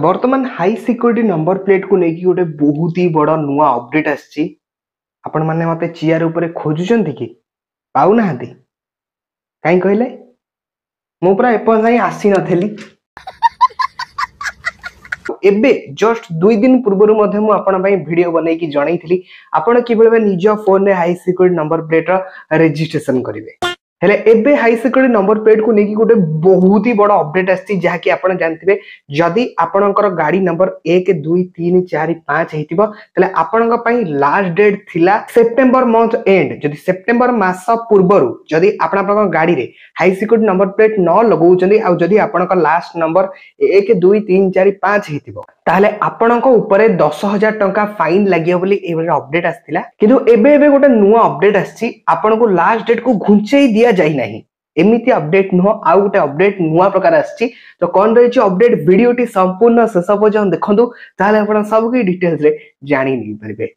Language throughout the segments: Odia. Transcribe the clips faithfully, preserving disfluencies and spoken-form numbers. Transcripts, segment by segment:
ବର୍ତ୍ତମାନ ହାଇ ସିକ୍ୟୁରିଟି ନମ୍ବର ପ୍ଲେଟ୍କୁ ନେଇକି ଗୋଟେ ବହୁତ ହି ବଡ଼ ନୂଆ ଅପଡେଟ୍ ଆସିଛି। ଆପଣମାନେ ମୋତେ ଚେୟାର ଉପରେ ଖୋଜୁଛନ୍ତି କି ପାଉନାହାନ୍ତି? କାହିଁ କହିଲେ, ମୁଁ ପୁରା ଏପର୍ଯ୍ୟନ୍ତ ଯାଏଁ ଆସିନଥିଲି। ଏବେ ଜଷ୍ଟ ଦୁଇ ଦିନ ପୂର୍ବରୁ ମଧ୍ୟ ମୁଁ ଆପଣଙ୍କ ପାଇଁ ଭିଡିଓ ବନେଇକି ଜଣେଇଥିଲି ଆପଣ କିଭଳି ଭାବେ ନିଜ ଫୋନରେ ହାଇ ସିକ୍ୟୁରିଟି ନମ୍ବର ପ୍ଲେଟ୍ର ରେଜିଷ୍ଟ୍ରେସନ କରିବେ। ହେଲେ ଏବେ ହାଇ ସିକ୍ୟୁରିଟି ନମ୍ବର ପ୍ଲେଟ୍କୁ ନେଇକି ଗୋଟେ ବହୁତ ହି ବଡ଼ ଅପଡେଟ୍ ଆସିଛି, ଯାହାକି ଆପଣ ଜାଣିଥିବେ, ଯଦି ଆପଣଙ୍କର ଗାଡି ନମ୍ବର ଏକ, ଦୁଇ, ତିନି, ଚାରି, ପାଞ୍ଚ ହେଇଥିବ, ତାହେଲେ ଆପଣଙ୍କ ପାଇଁ ଲାଷ୍ଟ ଡେଟ୍ ଥିଲା ସେପ୍ଟେମ୍ବର ମନ୍ଥ ଏଣ୍ଡ। ଯଦି ସେପ୍ଟେମ୍ବର ମାସ ପୂର୍ବରୁ ଯଦି ଆପଣ ଆପଣଙ୍କ ଗାଡିରେ ହାଇ ସିକ୍ୟୁରିଟି ନମ୍ବର ପ୍ଲେଟ୍ ନ ଲଗାଉଛନ୍ତି, ଆଉ ଯଦି ଆପଣଙ୍କ ଲାଷ୍ଟ ନମ୍ବର ଏକ, ଦୁଇ, ତିନି, ଚାରି, ପାଞ୍ଚ ହେଇଥିବ, ତାହେଲେ ଆପଣଙ୍କ ଉପରେ ଦଶ ହଜାର ଟଙ୍କା ଫାଇନ୍ ଲାଗିବ ବୋଲି ଏଇଭଳି ଅପଡେଟ୍ ଆସିଥିଲା। କିନ୍ତୁ ଏବେ ଏବେ ଗୋଟେ ନୂଆ ଅପଡେଟ୍ ଆସିଛି। ଆପଣଙ୍କୁ ଲାଷ୍ଟ ଡେଟ୍ କୁ ଘୁଞ୍ଚେଇ ଦିଆଯାଇନାହିଁ, ଏମିତି ଅପଡେଟ୍ ନୁହଁ, ଆଉ ଗୋଟେ ଅପଡେଟ୍ ନୂଆ ପ୍ରକାର ଆସିଛି। ତ କଣ ରହିଛି ଅପଡେଟ୍, ଭିଡିଓଟି ସମ୍ପୂର୍ଣ୍ଣ ଶେଷ ପର୍ଯ୍ୟନ୍ତ ଦେଖନ୍ତୁ, ତାହେଲେ ଆପଣ ସବୁ କିଛି ଡିଟେଲ୍ସରେ ଜାଣି ନେଇପାରିବେ।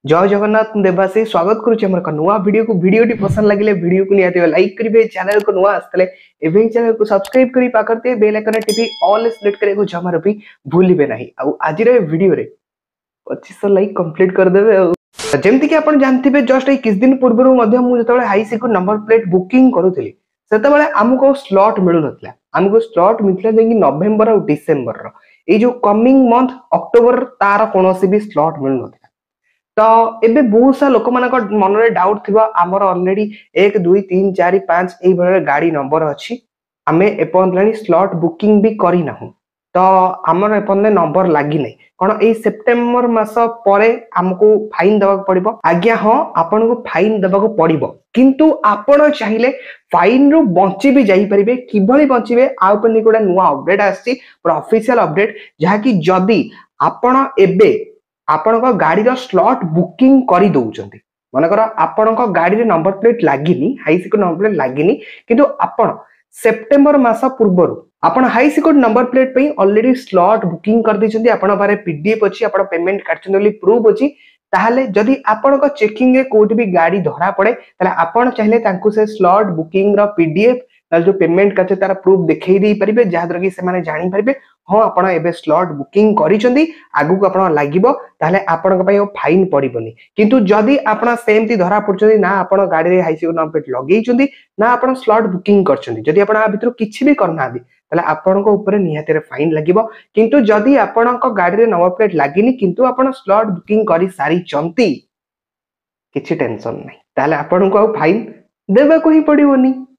ଜୟ ଜଗନ୍ନାଥ, ମୁଁ ଦେବାଶିଷ, ସ୍ୱାଗତ କରୁଛି ଆମର ଏକ ନୂଆ ଭିଡିଓକୁ। ଭିଡିଓଟି ପସନ୍ଦ ଲାଗିଲେ ଭିଡିଓକୁ ନିହାତି ଲାଇକ୍ କରିବେ। ଚ୍ୟାନେଲକୁ ନୂଆ ଆସିଥିଲେ ଏବେ ହିଁ ଚ୍ୟାନେଲକୁ ସବସ୍କ୍ରାଇବ କରି ପାଖରେ ଥିବା ବେଲ୍ ଆଇକନ୍ ଟିପି ଅଲ୍ ସିଲେକ୍ଟ କରିବାକୁ ଜମାରୁ ବି ଭୁଲିବେ ନାହିଁ। ଆଉ ଆଜିର ଏ ଭିଡିଓରେ ପଚିଶଶହ ଲାଇକ୍ କମ୍ପ୍ଲିଟ କରିଦେବେ। ଆଉ ଯେମିତିକି ଆପଣ ଜାଣିଥିବେ, ଜଷ୍ଟ ଏଇ କିଛି ଦିନ ପୂର୍ବରୁ ମଧ୍ୟ ମୁଁ ଯେତେବେଳେ high security number plate booking କରୁଥିଲି, ସେତେବେଳେ ଆମକୁ ଆଉ ସ୍ଲଟ୍ ମିଳୁନଥିଲା। ଆମକୁ ସ୍ଲଟ୍ ମିଳିଥିଲା ଯାଇକି ନଭେମ୍ବର ଆଉ ଡିସେମ୍ବରର। ଏଇ ଯୋଉ କମିଂ ମନ୍ଥ ଅକ୍ଟୋବର, ତାର କୌଣସି ବି ସ୍ଲଟ୍ ମିଳୁନଥିଲା। ତ ଏବେ ବହୁତ ସାରା ଲୋକମାନଙ୍କ ମନରେ ଡାଉଟ୍ ଥିବ, ଆମର ଅଲରେଡି ଏକ, ଦୁଇ, ତିନି, ଚାରି, ପାଞ୍ଚ ଏଇଭଳି ଗାଡି ନମ୍ବର ଅଛି, ଆମେ ଏପର୍ଯ୍ୟନ୍ତ ହେଲାଣି ସ୍ଲଟ୍ ବୁକିଂ ବି କରିନାହୁଁ, ତ ଆମର ଏପର୍ଯ୍ୟନ୍ତ ନମ୍ବର ଲାଗିନାହିଁ, କଣ ଏଇ ସେପ୍ଟେମ୍ବର ମାସ ପରେ ଆମକୁ ଫାଇନ୍ ଦେବାକୁ ପଡିବ? ଆଜ୍ଞା ହଁ, ଆପଣଙ୍କୁ ଫାଇନ୍ ଦେବାକୁ ପଡିବ, କିନ୍ତୁ ଆପଣ ଚାହିଁଲେ ଫାଇନ୍ ରୁ ବଞ୍ଚି ବି ଯାଇପାରିବେ। କିଭଳି ବଞ୍ଚିବେ, ଆଉ ଉପରେ ଗୋଟେ ନୂଆ ଅପଡେଟ୍ ଆସିଛି, ପୁରା ଅଫିସିଆଲ ଅପଡେଟ୍, ଯାହାକି ଯଦି ଆପଣ ଏବେ ଆପଣଙ୍କ ଗାଡିର ସ୍ଲଟ୍ ବୁକିଂ କରିଦଉଛନ୍ତି, ମନେକର ଆପଣଙ୍କ ଗାଡିରେ ନମ୍ବର ପ୍ଲେଟ୍ ଲାଗିନି, ହାଇ ସିକ୍ୟୁରିଟି ନମ୍ବର ପ୍ଲେଟ୍ ଲାଗିନି, କିନ୍ତୁ ଆପଣ ସେପ୍ଟେମ୍ବର ମାସ ପୂର୍ବରୁ ଆପଣ ହାଇ ସିକ୍ୟୁରିଟି ନମ୍ବର ପ୍ଲେଟ୍ ପାଇଁ ଅଲରେଡି ସ୍ଲଟ୍ ବୁକିଂ କରିଦେଇଛନ୍ତି, ଆପଣଙ୍କ ପାଖରେ ପିଡିଏଫ୍ ଅଛି, ଆପଣ ପେମେଣ୍ଟ କାଟିଛନ୍ତି ବୋଲି ପ୍ରୁଫ୍ ଅଛି, ତାହେଲେ ଯଦି ଆପଣଙ୍କ ଚେକିଂରେ କୋଉଠି ବି ଗାଡି ଧରା ପଡେ, ତାହେଲେ ଆପଣ ଚାହିଁଲେ ତାଙ୍କୁ ସେ ସ୍ଲଟ୍ ବୁକିଂ ର ପିଡିଏଫ୍ ନହେଲେ ଯୋଉ ପେମେଣ୍ଟ କରିছে ତାର ପ୍ରୁଫ୍ ଦେଖେଇ ଦେଇପାରିବେ, ଯାହାଦ୍ୱାରା କି ସେମାନେ ଜାଣିପାରିବେ, ହଁ, ଆପଣ ଏବେ ସ୍ଲଟ୍ ବୁକିଂ କରିଛନ୍ତି, ଆଗକୁ ଆପଣ ଲାଗିବ, ତାହେଲେ ଆପଣଙ୍କ ପାଇଁ ଆଉ ଫାଇନ୍ ପଡିବନି। କିନ୍ତୁ ଯଦି ଆପଣ ସେମିତି ଧରା ପଡୁଛନ୍ତି, ନା ଆପଣ ଗାଡିରେ ହାଇ ସିକ୍ୟୁରିଟି ନମ୍ବର ପ୍ଲେଟ୍ ଲଗେଇଛନ୍ତି, ନା ଆପଣ ସ୍ଲଟ୍ ବୁକିଂ କରିଛନ୍ତି, ଯଦି ଆପଣ ଆ ଭିତରୁ କିଛି ବି କରିନାହାନ୍ତି, ତାହେଲେ ଆପଣଙ୍କ ଉପରେ ନିହାତି ଫାଇନ୍ ଲାଗିବ। କିନ୍ତୁ ଯଦି ଆପଣଙ୍କ ଗାଡିରେ ନମ୍ବର ପ୍ଲେଟ୍ ଲାଗିନି, କିନ୍ତୁ ଆପଣ ସ୍ଲଟ୍ ବୁକିଂ କରି ସାରିଛନ୍ତି, କିଛି ଟେନସନ ନାହିଁ, ତାହେଲେ ଆପଣଙ୍କୁ ଆଉ ଫାଇନ୍ ଦେବାକୁ ହିଁ ପଡିବନି।